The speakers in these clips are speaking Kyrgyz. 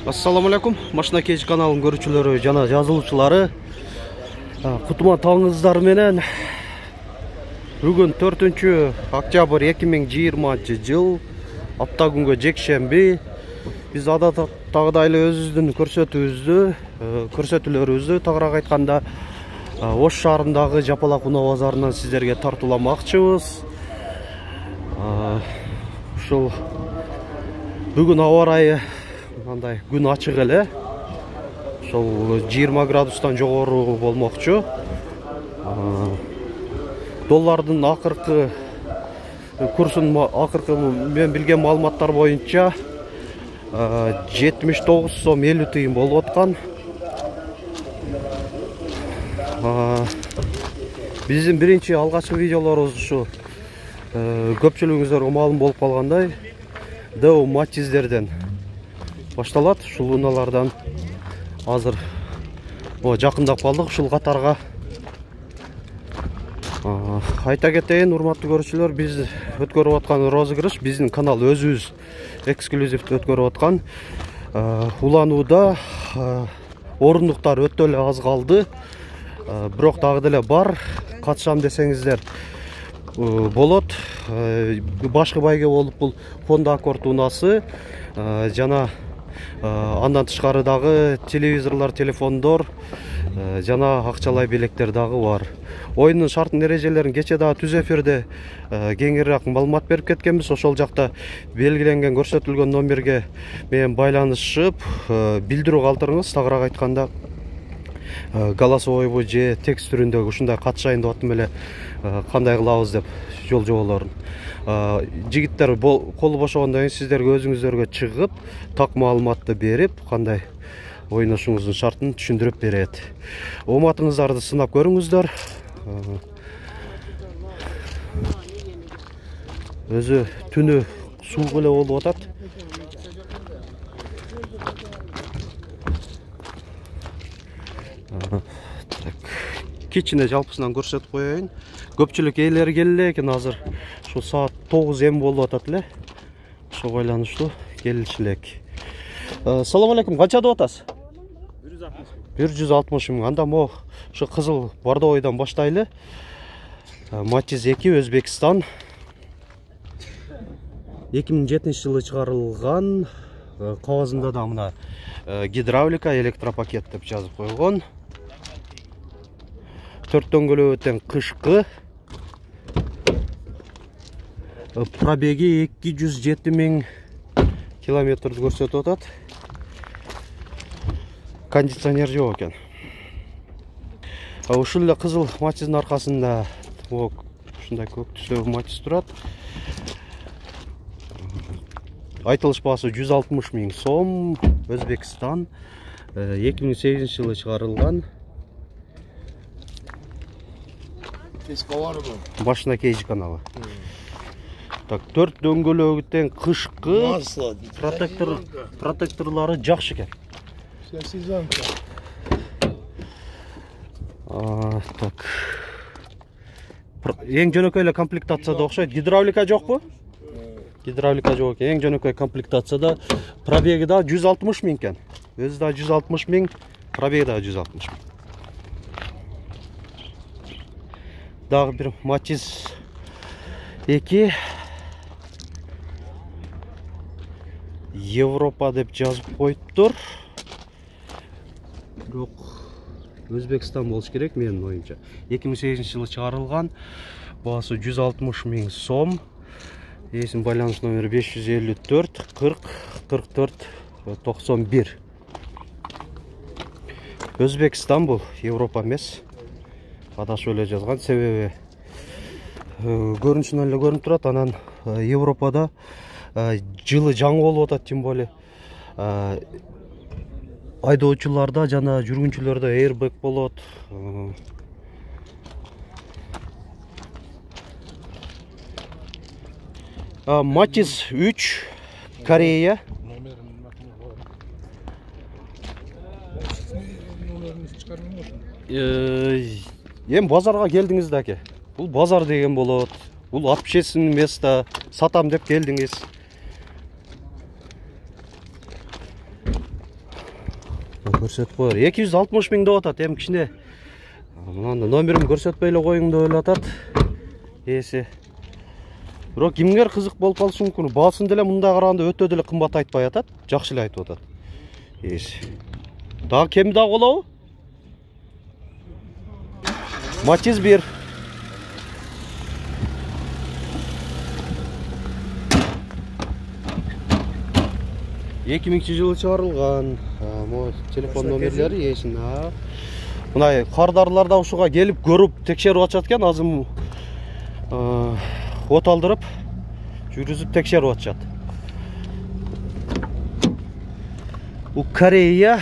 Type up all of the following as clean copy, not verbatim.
Assalamu alaikum. Машина кеч каналынын көрүүчүлөрү жана жазылуучулары. Кутман таңыңыздар менен. Бүгүн 4 октябрь 2020 жыл. Апта күнгө жекшемби. Биз адаттагыдай эле өзүбүздүн көрсөтүүлөрүбүздү тагыраак айтканда Ош шаарындагы Жапалак унаа базарынан сиздерге тартууламакчыбыз. Ушул бүгүн аба ырайы мындай күн ачык эле. Ошол 20 градустан жогору болмокчу. Доллардын акыркы курсун мен билген маалыматтар боюнча 79 сом 50 тыйын болуп аткан. Биздин биринчи алгачкы видеолорубуз ушу көпчүлүгүңүздөргө маалым болуп калгандай Дэу Матиздерден башталат. Ушул унаалардан азыр жакындап калдык ушул катарга. Айта кетейин, урматтуу көрүүчүлөр, биз өткөрүп аткан розыгрыш биздин канал өзүбүз эксклюзивдүү өткөрүп аткан. Уланууда орундуктар өтө эле аз калды. Бирок дагы деле бар. Катышам десеңиздер болот. Башкы байге болуп бул Honda Accord унаасы жана андан тышкары дагы телевизорлор, телефондор жана акчалай белектер дагы бар. Оюндун шарт эрежелерин кече дагы түз эфирде кеңирээк маалымат берип кеткенбиз. Ошол жакта белгиленген көрсөтүлгөн номерге менен байланышып билдирүү калтырыңыз. Тагыраак айтканда голосовойбу же текст түрүндөгү ушундай катышайын деп аттым эле кандай кылабыз деп жол жоболорун. Жигиттер колу бошогондон кийин сиздерге өзүңүздөргө чыгып, так маалыматты берип, кандай ойношуңуздун шартын түшүндүрүп берет. Ооматыңыздарды сынап көрүңүздөр. Өзү түнү суук эле болуп атат. Кичине жалпысынан көрсөтүп коеюн. Көпчүлүк ээлери келе экен азыр. Ушул саат 9 эм болуп атат эле. Ошо байланыштуу келиши элек. Салам алейкум. Канча деп атасыз? 160 миң. Анда мо ушу кызыл бордовойдон баштайлы. Матиз 2 Өзбекстан. 2007-жылы чыгарылган. Кагазында да мына гидравлика, электропакет деп жазып койгон. 4 дөңгөлөктөн кышкы. Пробеги 207 миң километрди көрсөтүп атат. Кондиционер жок экен. Ушул эле кызыл Матиздин аркасында ушундай көк түстөгү Матиз турат. Айтылыш баасы 160 миң сом. Өзбекстан. 2008-жылы чыгарылган. Машина кеч каналы. Так, 4 дөңгөлөгүтен кышкы. Протекторлору жакшы экен. Так. Эң жөнөкөй эле комплектацияда окшойт. Гидравлика жокпу? Гидравлика жок экен. Эң жөнөкөй комплектацияда пробеги да 160 миң экен. Өзү да 160 миң, пробеги да 160 миң. Дагы бир Матиз 2 Европа деп жазып коюптур. Бирок Өзбекстан болуш керек менин оюмча. 2008-жылы чыгарылган. Баасы 160 миң сом. Эсин байланыш номери 554 40 44 91. Өзбекстан бул, Европа эмес. Адашып эле жазган, себеби көрүнүшүнөн эле көрүнүп турат. Анан Европада жылы жаңы болуп атат, тем более айдоочуларда жана жүргүнчүлөрдө airbag болот. Матиз 3 Корея. Эми базарга келдиңиз да аке. Бул базар деген болот. Бул общественный место. Сатам деп келдиңиз. көрсөтүп коер. 260 миң деп атат. Эми кичине мынанда номерин көрсөтпөй эле коюң деп эле атат. Эси. Бирок кимгер кызык болуп калышы мүмкүн. Баасын деле мында караганда өтө деле кымбат айтпай атат. Жакшы эле айтып атат. Эси. Дагы кеми дагы болобу? Matiz 1. жылы чыгарылган. Телефон номерлери эсин. Мындай кардарылар да ушуга келип көрүп текшерип атышат экен. Азыр от алдырып, жүргүзүп текшерип атышат. У Корея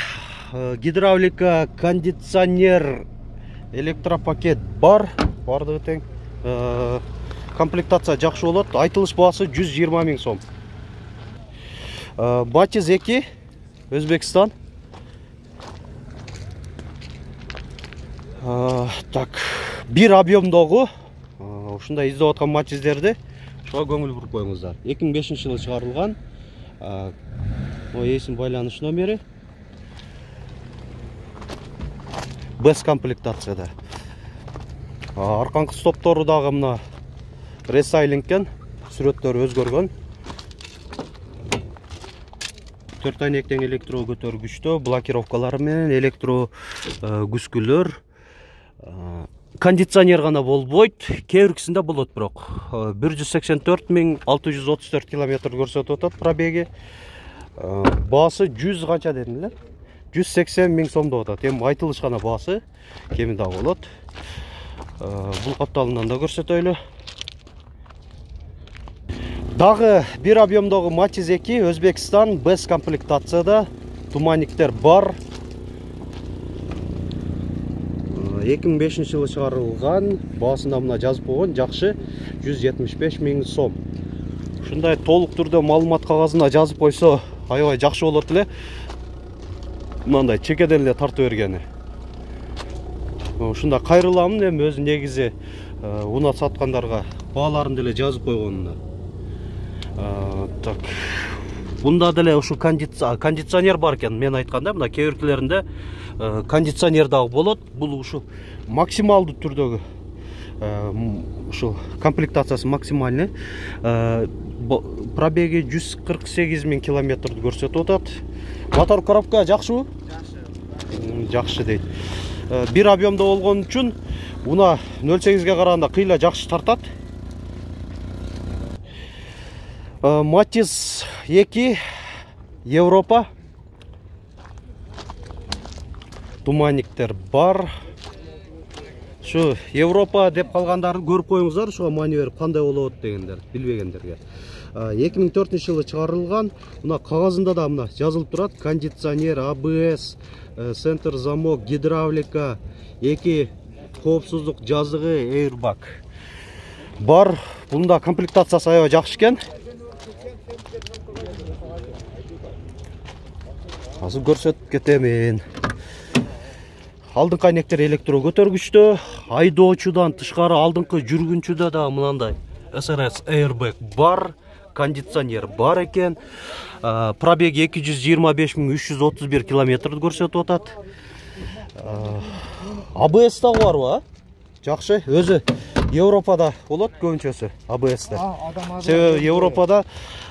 гидравлика, кондиционер, электропакет бар. Бардыгы тең. Комплектация жакшы болот. Айтылыш баасы 120 миң сом. Matiz 2, Өзбекстан. Так, бир объемдогу ушундай издеп аткан Matiz'дерди ошого көңүл буруп коюңуздар. 2005 жылы чыгарылган. Эсин байланыш номери. Без комплектацияда. Арканкы стоптору дагы мына ресайлингкен, сүрөттөрү өзгөргөн. 4 айнектен электро көтөргүчтө, блокировкалары менен электро күскүлөр. Кондиционер гана болбойт, кээ биркисинде болот бирок. 184.634 км көрсөтүп атат пробеги. Баасы 100 канча дедим эле? 180 миң сом деп атат. Эми айтылыш гана баасы, кеми дагы болот. Бул капталынан да көрсөтөйлү. Дагы бир объемдогу Matiz 2, Өзбекстан, без комплектацияда, туманниктер бар. 2005 жылы чыгарылган, баасында мына жазып койгон, жакшы, 175 миң сом. Ушундай толук түрдө маалымат кагазына жазып койсо, аябай жакшы болот эле. Мындай чекеден эле тартып бергени. Ушунда кайрыламын, эми өзү негизи унат саткандарга бааларын деле жазып койгонуна. Так. Бунда деле ушу кондиционер бар экен, мен айтканда, мына кээ биркилеринде кондиционер дагы болот. Бул ушу максималдуу түрдөгү ушу комплектациясы максимальный. Пробеги 148 миң километрди көрсөтүп атат. Мотор коробка жакшыбы? Жакшы. Жакшы дейт. Бир объемдо болгон үчүн уна 0.8ге караганда кыйла жакшы тартат. Matiz 2, Европа. Туманниктер бар. Шу Европа деп калгандарды көрүп коюңуздар, ушуга маневр кандай болот дегендер, билбегендерге. 2004 жылы чыгарылган. Мына кагазында да мына жазылып турат: кондиционер, ABS, центр замок, гидравлика, 2 коопсуздук жазыгы, airbag бар. Бунда комплектациясы аябай жакшы экен. Азыр көрсөтүп кетемин. Алдыңкы айнектер электро көтөргүчтө, айдоочудан тышкары алдыңкы жүргүнчүдө да мынандай SRS airbag бар, кондиционер бар экен. Пробеги 225.331 км көрсөтүп атат. ABS да барбы? Жакшы, өзү Европада болот көбүнчөсү ABS-те. Себеби Европада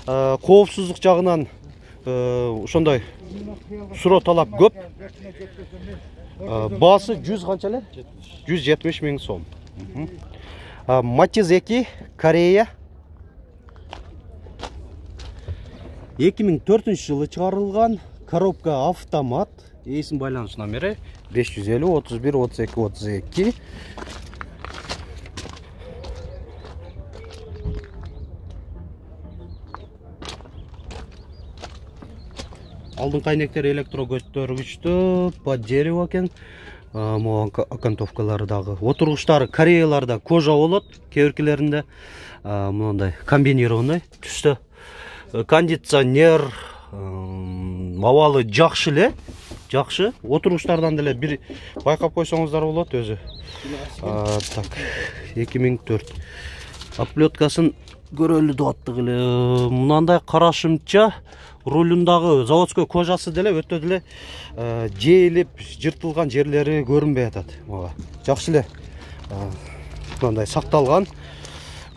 коопсуздук жагынан ошондой суроо талап көп. Баасы 100 канча эле? 170 миң сом. Matiz 2, Корея. 2004 жылы чыгарылган, коробка автомат, эсин байланыш номери 550 31 32 32. Алдыңкы айнектер электро көтөргүчтө, под дерево экен. Могу окантовкалары дагы. Отургучтары Кореяларда кожа болот, кээ биркилеринде мындай комбинированный түстө. Кондиционер, абалы жакшы эле, жакшы. Отургучтардан деле бир байкап койсоңуздар болот өзү. Так, 2004. Оплеткасын көрөлү деп аттык эле. Мынандай карашымча рулундагы заводской кожасы деле өтө деле жейилип, жыртылган жерлери көрүнбөй атат. Жакшы эле мындай сакталган.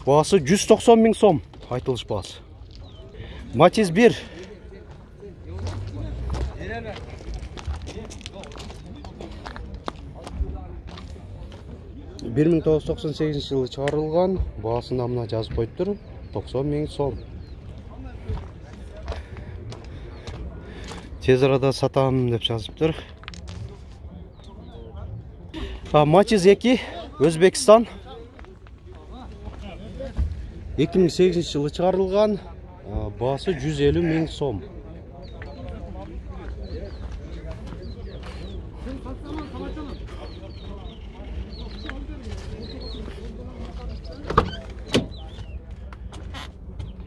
Баасы 190 000 сом айтылыш баасы. Матиз 1. Bir 1998 жылы чыгарылган. Баасында мына жазып коюптур. 90 000 сом. Тез арада сатам деп жазыптыр. Матиз 2, Өзбекстан. 2008 жылы чыгарылган. Баасы 150 000 сом.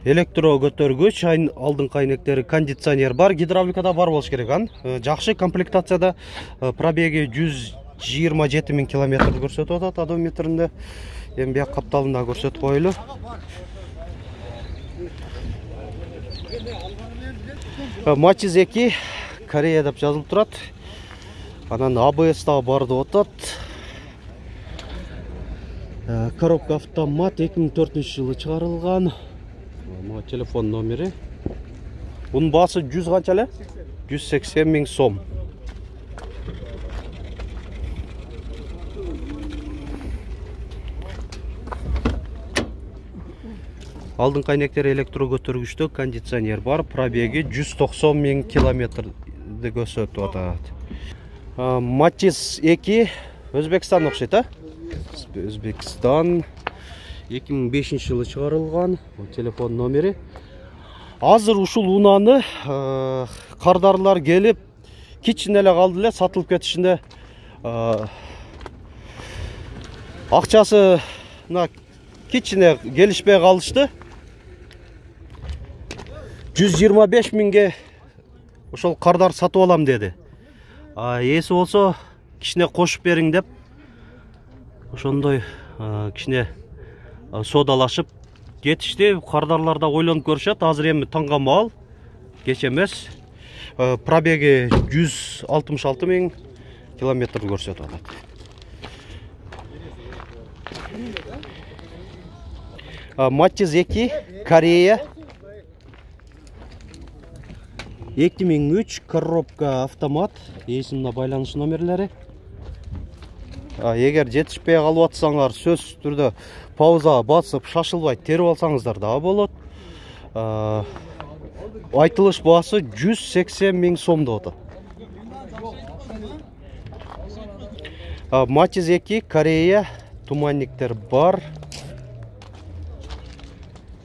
Электро көтөргүч, алдыңкы айнектери, кондиционер бар, гидравликада бар болуш керек ан. Жакшы комплектацияда, пробеги 127 000 километр көрсөтүп атат одометринде. Эми бияк капталында көрсөтүп коелу. Матиз 2, Корея деп жазылып турат. Анан ABS да бар деп атат. Коробка автомат 2004 жылы чыгарылган. Телефон номери. Bunun baası 100 kança эле? 180 000 сом. Алдыңкы айнектери электро көтөргүчтө, кондиционер бар, пробеги 190 000 километрди көрсөтүп атат. Матиз 2, Өзбекстан окшойт, Өзбекстан 2005 жылы чыгарылган. Телефон номери. Азыр ушул унааны кардарлар келип, кичине эле калды эле сатылып кетишинде. Акчасына кичине келишпей калышты. 125 000ге ошол кардар сатып алам деди. Эси болсо кичине кошуп бериң деп ошондой кичине содалашып кетишти. Кардарлар да ойлонуп көрүшөт. Азыр эми таңга маал, кеч эмес. Пробеги 166 000 километр көрсөтүп атат. Матиз 2, Корея. 2003, коробка автомат. Эсимде байланыш номерлери. Эгер жетишпей калып атсаңар, сөзсүз түрдө пауза басып, шашылбай терип алсаңыздар да болот. Айтылыш баасы 180 000 сом деп атат. Матиз 2, Корея, туманниктер бар.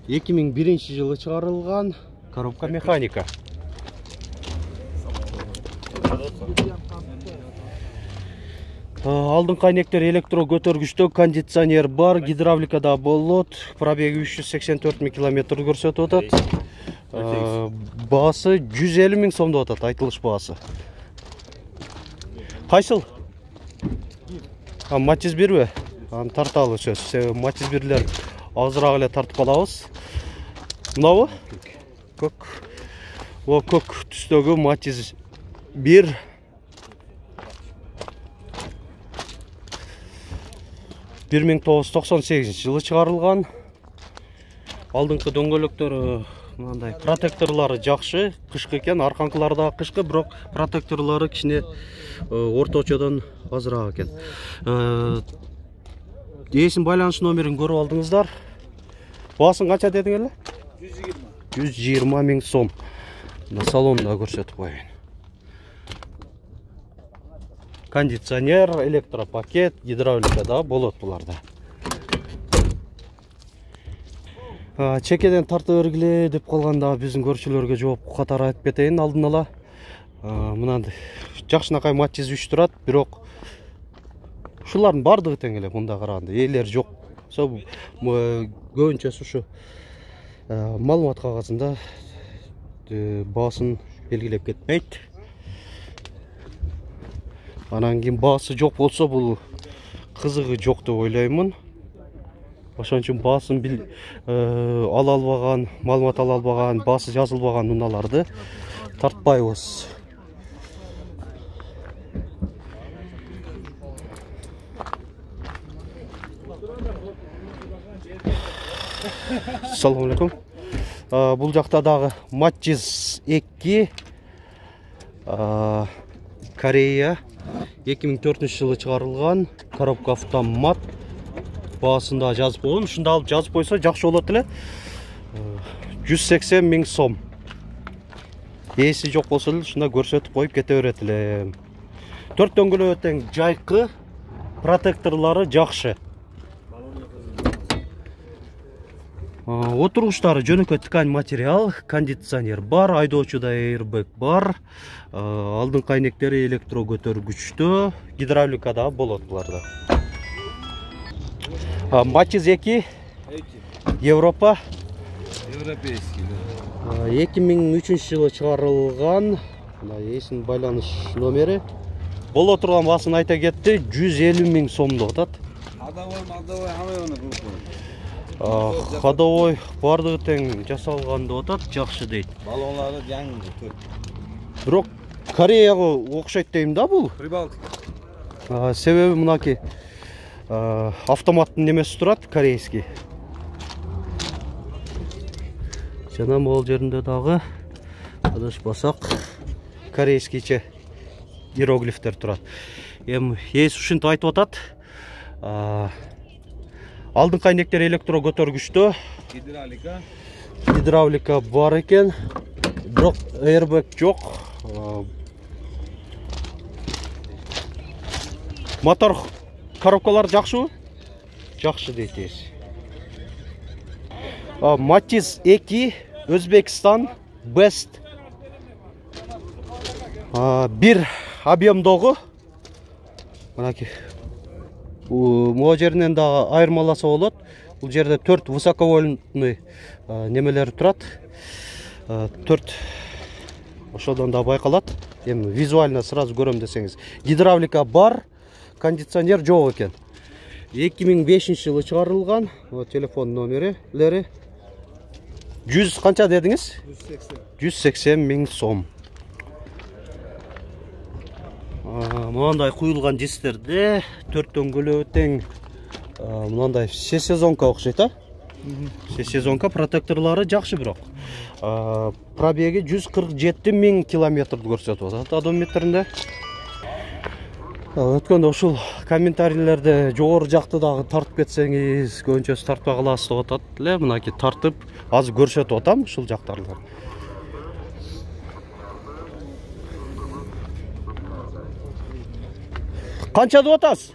2001 жылы чыгарылган. Коробка механика. Алдыңкы айнектер электро көтөргүчтө, кондиционер бар, гидравликада болот. Пробеги 384 000 километр көрсөтүп атат. Баасы 150 000 сом деп атат, айтылыш баасы. Кайсыл? Матиз 1би? Аны тарталы сөз. Матиз 1лер азыраак эле тартып алабыз. Мынабы? Көк. Көк түстөгү Матиз 1. 1998 жылы чыгарылган. Алдыңкы дөңгөлөктөрү мындай протекторлары жакшы, кышкы экен, арканкылары да кышкы, бирок протекторлары кичине орточодон азыраак экен. Эсин байланыш номерин көрүп алдыңыздар. Баасын канча дедиң эле? 120 000 сом. Салонда көрсөтүп коеюн. Кондиционер, электропакет, гидравлика да болот буларда. Чекеден тартып бергиле деп калганда биздин көрүүчүлөргө жооп катары айтып кетейин алдын ала. Мынандай жакшынакай Матиз 3 турат, бирок ушулардын бардыгы тең эле мында караганда. Ээлер жок. Көбүнчөсү ушу маалымат кагазында баасын белгилеп кетпейт. Анан кийин баасы жок болсо, бул кызыгы жок деп ойлоймун. Ошон үчүн баасын ала албаган, маалымат ала албаган, баасы жазылбаган унааларды тартпайбыз. Assalamu alaikum. Бул жакта дагы Matiz 2 Корея 2004-жылы чыгарылган коробка автомат. Баасында жазып койгон. Ушунда алып жазып койсо жакшы болот эле. 180 000 сом. Ээси жок болсо эле ушунда көрсөтүп коюп кете берет эле. 4 дөңгөлөө тең жайкы, протекторлору жакшы. Отургучтары жөнөкөй ткань материал, кондиционер бар, айдоочуда airbag бар, алдыңкы айнектери электро көтөргүчтүү, гидравлика да болот буларда. Matiz 2 Европа. Европейский. 2003-жылы чыгарылган. Мына эсин байланыш номери. Боло турган баасын айта кетти, 150 000 сомдо атат. Ходовой хамы Ходовой бардыгы тең жасалган деп атат, жакшы дейт. Баллонлары жаңы. Бирок Кореяга окшойт дейм да бул. Прибалтика. Себеби мынаки автоматтын немеси турат, корейский. Жана могул жеринде дагы адашпасак корейскийче иероглифтер турат. Эми ээси ушинтип айтып атат. Алдыңкы айнектер электро көтөргүчтүү. Гидравлика бар экен. Бирок airbag жок. Мотор коробкалар жакшыбы? Жакшы дейт ээси. Matiz 2 Өзбекстан Best. Бир объемдогу. Мынаки могу жеринен дагы айырмаласа болот. Бул жерде 4 высоковольтный немелер турат. 4 ошодон да байкалат. Эми визуально сразу көрөм десеңиз. Гидравлика бар, кондиционер жок экен. 2005-жылы чыгарылган. Телефон номерлери 100 канча дедиңиз? 180 000 сом. Мынандай куюлган дистерде 4 дөңгөлөө тең мынандай сезонка окшойт, сезонка, протекторлору жакшы бирок. Пробеги 147 000 километрди көрсөтүп атат одометринде. Өткөндө ушул комментарийлерде жогору жакты дагы тартып кетсеңиз, көбүнчөсү тартпай каласыз деп атат эле. Мынакей тартып азыр көрсөтүп атам ушул жактарды. Канча деп атасыз?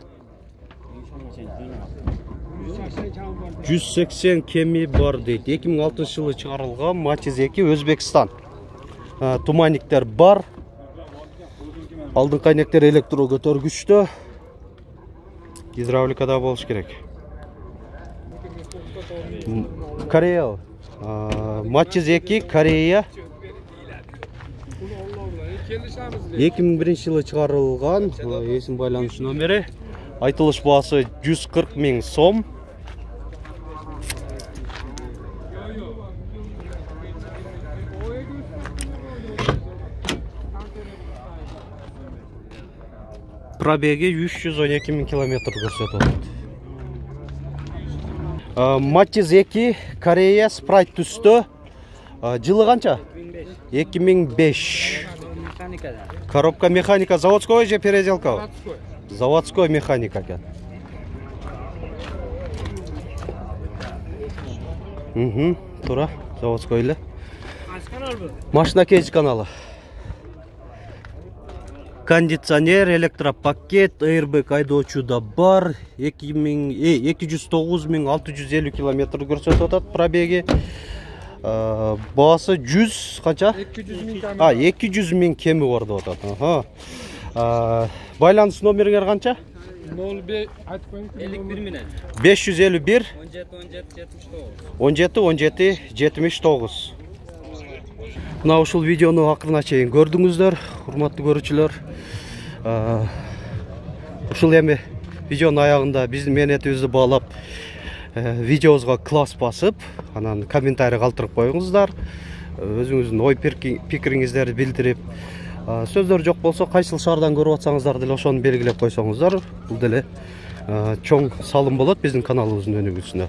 180 кеми бар дейт. 2006-жылы чыгарылган Matiz 2 Өзбекстан. Туманниктер бар. Алдыңкы айнектер электро көтөргүчтүү. Гидравликада болуш керек. Корея. Matiz 2 Корея. 2001-жылы чыгарылган, эсин байланыш номери. Айтылыш баасы 140 000 сом. Пробеги 312 000 километр көрсөтөт. Matiz 2 Корея спрайт түстө. Жылы канча? 2005. Коробка механика заводской же переделка? Заводской механика экен. Туура, заводской эле. Машина кейс каналы. Кондиционер, электропакет, airbag айдоочуда бар. 209 650 километр көрсөтүп атат пробеги. Баасы 100 канча? 200 000 кеми бар деп атат. Байланыш номериңер канча? 05 айтып коюң. 51 менен. 551 17 17 79. Мына ушул видеону акырына чейин көрдүңүздөр, урматтуу көрүүчүлөр. Ушул эми видеонун аягында биздин мээнетибизди баалап видеобузга класс басып, анан комментарий калтырып коюңуздар. Өзүңүздүн ой пикириңиздерди билдирип, сөздөр жок болсо кайсыл шаардан көрүп атсаңыздар деле ошону белгилеп койсоңуздар, бул деле чоң салым болот биздин каналыбыздын өнүгүүсүнө.